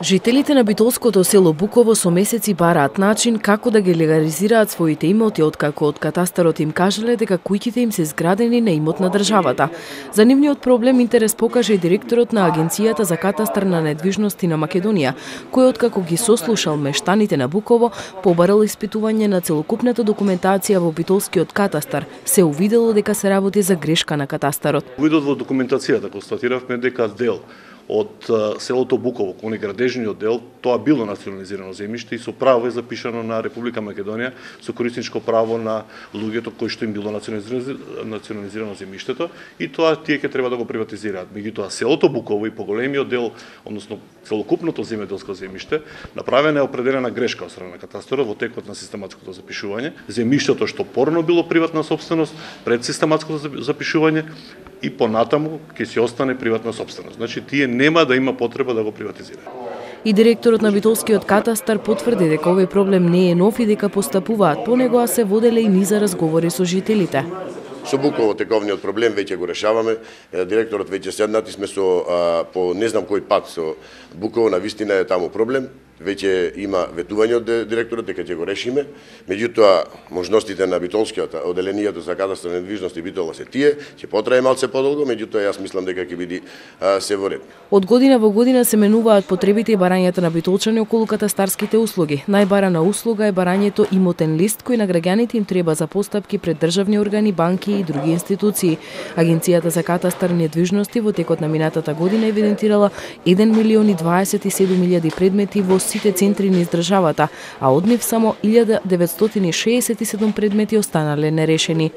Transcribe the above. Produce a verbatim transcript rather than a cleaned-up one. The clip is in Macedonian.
Жителите на битолското село Буково со месеци бараат начин како да ги легализираат своите имоти, откако од катастарот им кажале дека куќите им се изградени на имот на државата. За нивниот проблем интерес покажа и директорот на Агенцијата за катастар на недвижности на Македонија, кој откако ги сослушал мештаните на Буково, побарал испитување на целокупната документација во битолскиот катастар, се увидело дека се работи за грешка на катастарот. Увидот во документацијата констатиравме дека дел од селото Буково, кој е градежниот дел, тоа било национализирано земјиште и со право е запишано на Република Македонија со корисничко право на луѓето кои што им било национализирано земјиштето и тоа тие ќе треба да го приватизираат. Меѓутоа селото Буково и поголемиот дел, односно целокупното земјоделско земјиште, направена е определена грешка од страна на катастарот во текот на систематското запишување. Земјиштето што порано било приватна сопственост пред систематското запишување и понатаму ќе си остане приватна сопственост. Значи тие нема да има потреба да го приватизираат. И директорот на битолскиот катастар потврди дека овој проблем не е нов и дека постапуваат по него, а се воделе и низа разговори со жителите. Со Буково тековниот проблем веќе го решаваме. Директорот веќе седнати сме со а, по не знам кој пат со Буково, на вистина е таму проблем. Веќе има ветување од директорот дека ќе го решиме. Меѓутоа, можностите на битолскиот оделението за катастар на недвижности Битола се тие, ќе потрае малце подолго, меѓутоа јас мислам дека ќе биде а, се во ред. Од година во година се менуваат потребите и барањата на битолчани околу катастарските услуги. Најбарана услуга е барањето имотен лист кој на граѓаните им треба за постапки пред државни органи, банки и други институции. Агенцијата за катастар на недвижности во текот на минатата година евидентирала еден милион и дваесет и седум илјади предмети во сите центри низ државата, а од нив само илјада деветстотини шеесет и седум предмети останале нерешени.